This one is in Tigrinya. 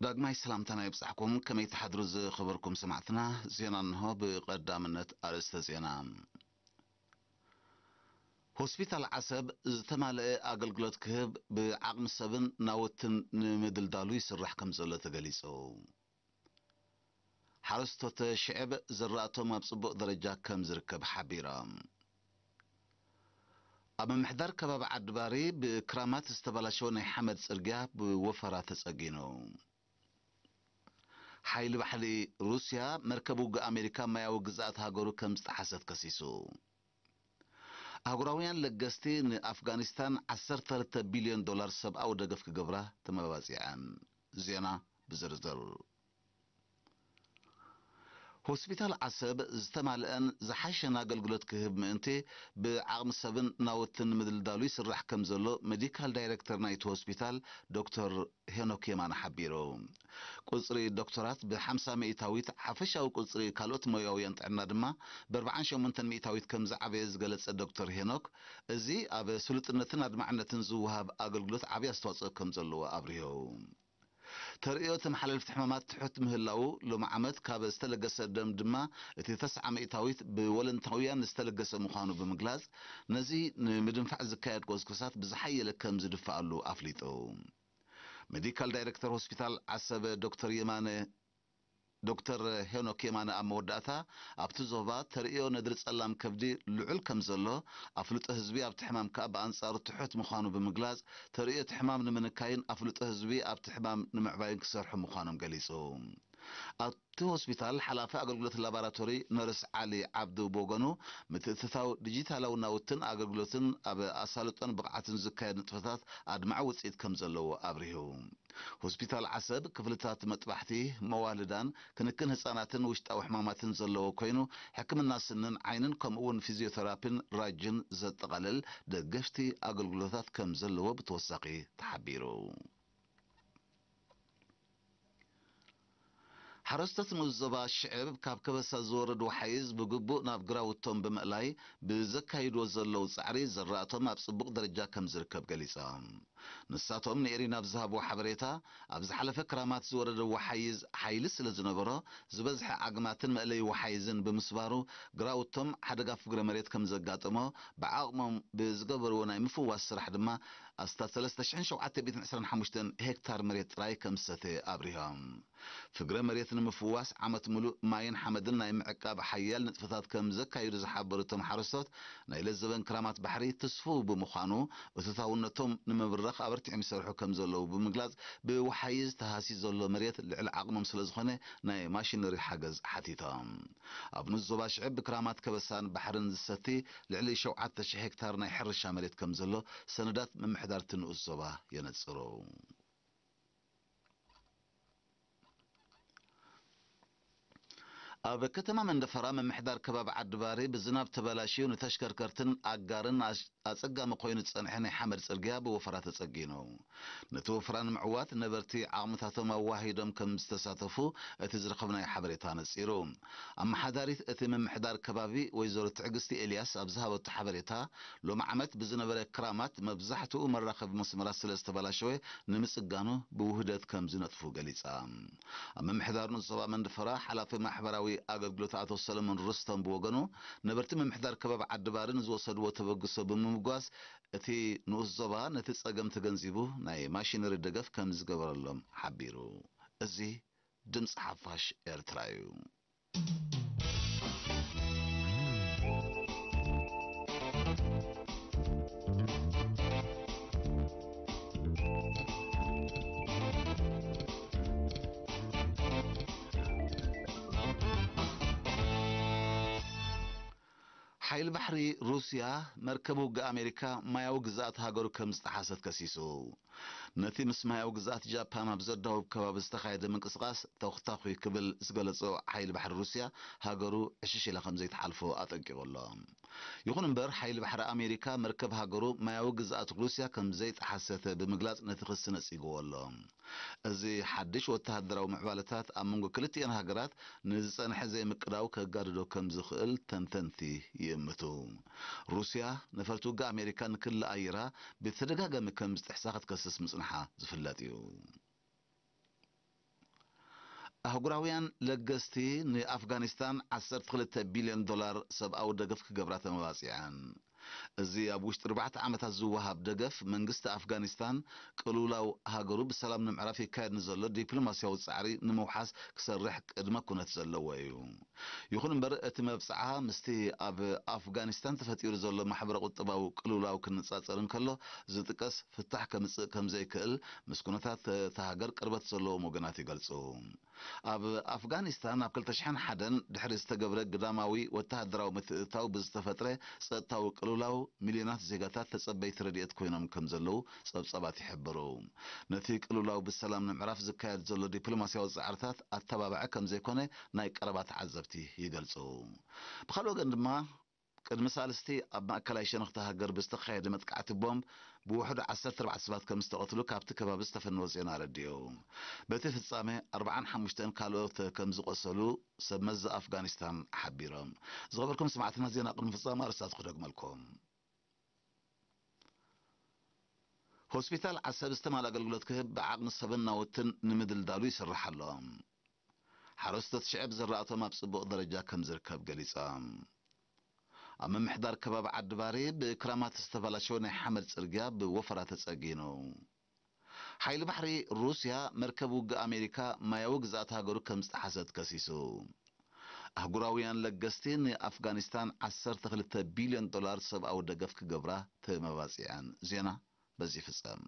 ዳግማይ ሰላምታና ይብጻሕኩም። ከመይ ትሓድሩ ዝኸበርኩም ሰማዕትና? ዜና እንሆ። ብቐዳምነት ኣርእስተ ዜና። ሆስፒታል ዓሰብ ዝተማልአ ኣገልግሎት ክህብ ብዓቕሚ ሰብን ናውትን ንምድልዳሉ ይስራሕ ከም ዘሎ ተገሊጹ። ሓረስቶት ሽዕብ ዝራእቶም ኣብ ጽቡቕ ደረጃ ከም ዝርከብ ሓቢሮም። ኣብ ምምሕዳር ከባቢ ዓዲባሪ ብክራማት ዝተበላሸወ ናይ ሓመድ ጽርግያ ብወፈራ ተጸጊኑ። ሓይሊ ባሕሪ ሩስያ መርከብ ውግእ ኣሜሪካ ማያዊ ግዝኣት ሃገሩ ከም ዝጠሓሰት ከሲሱ። ኣህጉራውያን ለገስቲ ንኣፍጋኒስታን ዓሰርተ ክልተ ቢልዮን ዶላር ሰብኣዊ ደገፍ ክገብራ ተመባጺዐን። ዜና ብዝርዝር። ሆስፒታል ዓሰብ ዝተማልአን ዝሓሸን ኣገልግሎት ክህብ ምእንቲ ብዓቕሚ ሰብን ናውትን ንምድልዳሉ ይስራሕ ከም ዘሎ ሜዲካል ዳይሬክተር ናይቲ ሆስፒታል ዶክተር ሄኖክ የማነ ሓቢሩ። ቁጽሪ ዶክተራት ብ50%፣ ሓፈሻዊ ቁጽሪ ካልኦት ሞያውያን ጥዕና ድማ ብ48% ከም ዝዓበየ ዝገለጸ ዶክተር ሄኖክ፣ እዚ ኣብ ስሉጥነትን ኣድማዕነትን ዝወሃብ ኣገልግሎት ዓቢ ኣስተዋጽኦ ከም ዘለዎ ኣብሪሁ። ተርእዮ ተመሓላለፍቲ ሕማማት ትሑት ምህላዉ፣ ሎሚ ዓመት ካብ ዝተለገሰ ደም ድማ እቲ ተስዓ ሚእታዊት ብወለንታውያን ዝተለገሰ ምዃኑ ብምግላጽ፣ ነዚ ንምድንፋዕ ዝካየድ ጎስጎሳት ብዝሓየለ ከም ዝድፍኣሉ ኣፍሊጡ። ሜዲካል ዳይሬክተር ሆስፒታል ዓሰበ ዶክተር የማነ፣ ዶክተር ሄኖክ የማነ ኣብ መወዳእታ፣ ኣብቲ ዞባ ተርእዮ ነድሪ ጸላም ከብዲ ልዑል ከም ዘሎ፣ ኣፍልጦ ህዝቢ ኣብቲ ሕማም ከኣ ብኣንጻሩ ትሑት ምዃኑ ብምግላጽ፣ ተርእዮ እቲ ሕማም ንምንካይን ኣፍልጦ ህዝቢ ኣብቲ ሕማም ንምዕባይን ክሰርሑ ምዃኖም ገሊጹ። ኣብቲ ሆስፒታል ሓላፊ ኣገልግሎት ላቦራቶሪ ነርስ ዓሊ ዓብዱ ብወገኑ፣ ምትእትታው ዲጂታላዊ ናውትን ኣገልግሎትን ኣብ ኣሳልጦን ብቕዓትን ዝካየድ ንጥፈታት ኣድማዒ ውጽኢት ከም ዘለዎ ኣብሪሁ። ሆስፒታል ዓሰብ ክፍልታት መጥባሕቲ፣ መዋልዳን ክንክን ህጻናትን ውሽጣዊ ሕማማትን ዘለዎ ኮይኑ፣ ሕክምና ስንን ዓይንን ከምኡ እውን ፊዚዮቴራፒን ራጅን ዘጠቓልል ደገፍቲ ኣገልግሎታት ከም ዘለዎ ብተወሳኺ ተሓቢሩ። ሓረስቶት ንኡስ ዞባ ሽዕብ ካብ ከበሳ ዝወርድ ወሓይዝ ብግቡእ ናብ ግራውቶም ብምእላይ ብዘካይድዎ ዘለዉ ጻዕሪ ዝራእቶም ኣብ ጽቡቕ ደረጃ ከም ዝርከብ ገሊጾም። ንሳቶም ንኤሪና ኣብ ዝሃብዎ ሓበሬታ፣ ኣብ ዝሓለፈ ክራማት ዝወረደ ወሓይዝ ሓይሊ ስለ ዝነበሮ፣ ዝበዝሐ ዓግማትን መእለዪ ወሓይዝን ብምስባሩ፣ ግራውቶም ሓደጋ ፍግረ መሬት ከም ዘጋጠሞ፣ ብዓቕሞም ብዝገበርዎ ናይ ምፍዋስ ስራሕ ድማ፣ ኣስታት ሰለስተ ሽሕን ሸውዓተ ሚእትን ዕስራን ሓሙሽተን ሄክታር መሬት ጥራይ ከም ዝሰተየ ኣብሪሆም። ፍግረ መሬት ንምፍዋስ ዓመት ምሉእ ማይን ሓመድን ናይ ምዕቃብ ሓያል ንጥፈታት ከም ዘካይዱ ዝሓበሩ እቶም ሓረስቶት፣ ናይ ለዘበን ክራማት ባሕሪ ትስፉው ብምዃኑ፣ እቶታውነቶም ንምብራኽ ኣበርቲዖም ይሰርሑ ከም ዘለዉ ብምግላጽ፣ ብወሓይዝ ተሃስዩ ዘሎ መሬት ልዕሊ ዓቕሞም ስለ ዝኾነ፣ ናይ ማሽነሪ ሓገዝ ሓቲቶም። ኣብ ንኡስ ዞባ ሽዕብ ብክራማት ከበሳን ባሕርን ዝሰቲ ልዕሊ ሸውዓተ ሽሕ ሄክታር ናይ ሕርሻ መሬት ከም ዘሎ ሰነዳት ምምሕዳር እቲ ንኡስ ዞባ የነጽሩ። ኣብ ከተማ መንደፈራ ምምሕዳር ከባቢ ዓዲባሪ ብዝናብ ተበላሽዩ ንተሽከርከርትን ኣጋርን ኣሽ-፣ ኣጸጋሚ ኮይኑ ዝጸንሐ ናይ ሓመድ ጽርግያ ብወፈራ ተጸጊኑ። ነቲ ወፈራ ንምዕዋት ነበርቲ ዓቕምታቶም ኣዋሂዶም ከም ዝተሳተፉ እቲ ዝረኸብናዮ ሓበሬታ ነጺሩ። ኣመሓዳሪት እቲ ምምሕዳር ከባቢ ወይዘሮ ትዕግስቲ ኤልያስ ኣብ ዝሃበቶ ሓበሬታ፣ ሎሚ ዓመት ብዝነበረ ክራማት መብዛሕትኡ መራኸቢ መስመራት ስለ ዝተበላሸወ ንምጽጋኑ ብውህደት ከም ዝነጥፉ ገሊጻ። ኣብ ምምሕዳር ንኡስ ዞባ መንደፈራ ሓላፊ ማሕበራዊ ኣገልግሎት ኣቶ ሰለሞን ሩስቶም ብወገኑ፣ ነበርቲ ምምሕዳር ከባቢ ዓዲባሪ ንዝወሰድዎ ተበግሶ ብምምጓስ፣ እቲ ንኡስ ዞባ ነቲ ጸገም ተገንዚቡ ናይ ማሽነሪ ደገፍ ከም ዝገበረሎም ሓቢሩ። እዚ ድምጺ ሓፋሽ ኤርትራ እዩ። ሓይሊ ባሕሪ ሩስያ መርከብ ውግእ ኣሜሪካ ማያዊ ግዝኣት ሃገሩ ከም ዝጠሓሰት ከሲሱ። ነቲ ምስ ማያዊ ግዝኣት ጃፓን ኣብ ዘዳውብ ከባቢ ዝተኻየደ ምንቅስቓስ ተኹታኹ ክብል ዝገለጾ ሓይሊ ባሕሪ ሩስያ፣ ሃገሩ ዕሽሽ ኢላ ከም ዘይትሓልፎ ኣጠንቂቑ ኣሎ። ይኹን እምበር፣ ሓይሊ ባሕሪ ኣሜሪካ መርከብ ሃገሩ ማያዊ ግዝኣት ሩስያ ከም ዘይጠሓሰተ ብምግላጽ ነቲ ክሲ ነጺግዎ ኣሎ። እዚ ሓድሽ ወተሃደራዊ ምዕባለታት ኣብ መንጎ ክልቲኤን ሃገራት ንዝጸንሐ ዘይምቅዳው ከጋድዶ ከም ዝኽእል ተንተንቲ ይእምቱ። ሩስያ ነፈርቲ ውግእ ኣሜሪካ ንክሊ ኣየራ ብተደጋጋሚ ከም ዝጥሕሳ ክትከስስ ምጽንሓ ዝፍለጥ እዩ። ኣህጉራውያን ለገስቲ ንኣፍጋኒስታን ዓሰርተ ክልተ ቢልዮን ዶላር ሰብኣዊ ደገፍ ክገብራ ተመባጺዐን። እዚ ኣብ ውሽጢ ኣርባዕተ ዓመታት ዝወሃብ ደገፍ፣ መንግስቲ ኣፍጋኒስታን ቅልውላው ሃገሩ ብሰላም ንምዕራፍ ይካየድ ንዘሎ ዲፕሎማስያዊ ጻዕሪ ንምውሓስ ክሰርሕ ቅድመ ኩነት ዘለዎ እዩ። ይኹን እምበር፣ እቲ መብጽዓ ምስቲ ኣብ ኣፍጋኒስታን ተፈጢሩ ዘሎ ማሕበረ ቁጠባዊ ቅልውላው ክነጻጸር እንከሎ ዝጥቀስ ፍታሕ ከምጽእ ከም ዘይክእል ምስ ኩነታት እታ ሃገር ቅርበት ዘለዎም ወገናት ይገልጹ። ኣብ ኣፍጋኒስታን ኣብ ክልተ ሽሕን ሓደን ድሕሪ ዝተገብረ ግዳማዊ ወተሃደራዊ ምትእትታው ብዝተፈጥረ ጸጥታዊ ቅልውላው ሚልዮናት ዜጋታት ተጸበይቲ ረድኤት ኮይኖም ከም ዘለዉ ጸብጻባት ይሕብሩ። ነቲ ቅልውላው ብሰላም ንምዕራፍ ዝካየድ ዘሎ ዲፕሎማስያዊ ጻዕርታት ኣተባባዒ ከም ዘይኮነ ናይ ቀረባ ተዓዘብቲ ይገልጹ። ብኻልእ ወገን ድማ ቅድሚ ሳልስቲ ኣብ ማእከላይ ሸነኽቲ ሃገር ብዝተኻየደ መጥቃዕቲ ቦምብ ብውሕዱ ዓሰርተ ኣርባዕተ ሰባት ከም ዝተቐትሉ ካብቲ ከባቢ ዝተፈነወ ዜና ኣረዲኡ። በቲ ፍጻመ ኣርባዓን ሓሙሽተን ካልኦት ከም ዝቖሰሉ ሰብ መዚ ኣፍጋኒስታን ሓቢሮም። ዝኸበርኩም ሰማዕትና፣ ዜና ቅድሚ ፍጻመ ኣርእስታት ክደግመልኩም። ሆስፒታል ዓሰብ ዝተማልአ ኣገልግሎት ክህብ ብዓቕሚ ሰብን ናውትን ንምድልዳሉ ይስራሕ ኣሎ። ሓረስቶት ሽዕብ ዝራእቶም ኣብ ጽቡቕ ደረጃ ከም ዝርከብ ገሊጾም። ኣብ ምምሕዳር ከባቢ ዓዲ ባሪ ብክራማት ዝተበላሸወ ናይ ሓመድ ጽርግያ ብወፈራ ተጸጊኑ። ሓይሊ ባሕሪ ሩስያ መርከብ ውግእ ኣሜሪካ ማያዊ ግዝኣት ሃገሩ ከም ዝጠሓሰት ከሲሱ። ኣህጉራውያን ለገስቲ ንኣፍጋኒስታን ዓሰርተ ክልተ ቢልዮን ዶላር ሰብኣዊ ደገፍ ክገብራ ተመባጺዐን። ዜና በዚ ይፍጸም።